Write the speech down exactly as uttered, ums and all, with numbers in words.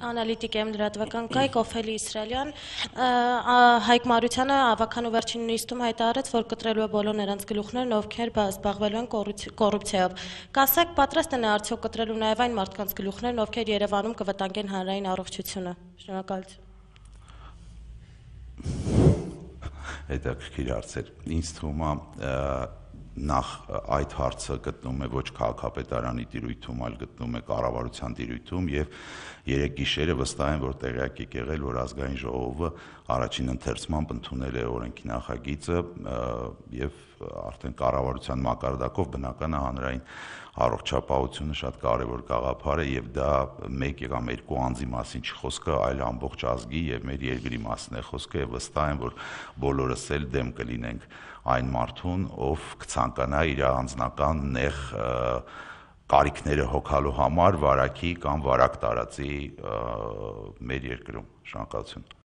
Անալիտիկ եմ լրատվական կայք, Օֆելի Իսրայելյան, Հայկ Մարությանը ավականու վերջին նիստում հայտարարեց, որ կտրելու է բոլոր նրանց գլուխներն, ովքեր զբաղվելու են կոռուպցիայով։ Կասեք, պատրաստ են արդյոք կտրելու նաև այն մարդկանց գլուխներն, ովքեր Երևանում կվտանգեն հանրային առողջությունը։ Շնորհակալություն։ Հետաքրքիր հարցեր։ Ինձ թվում է նախ այդ հարցը գտնում է ոչ քաղաքապետարանի տիրույթում, այլ գտնում է կառավարության տիրույթում եւ երեք գիշերը վստահ եմ, որ տեղյակ եք եղել, որ ազգային ժողովը առաջին ընթերցմամբ ընդունել է օրենքի նախագիծը եւ արդեն կառավարության մակարդակով բնական է հանրային առողջապահությունը շատ կարևոր գաղափար է եւ դա մեկ կամ երկու անձի մասին չի խոսքը, այլ ամբողջ ազգի եւ մեր երկրի մասին է խոսքը եւ վստահ եմ, որ բոլորս էլ դեմ կլինենք այն մարդուն, ով կցանկանա իր անձնական նեղ կարիքները հոգալու համար վարակի կամ վարակ տարածի մեր երկրում։ Շնորհակալություն։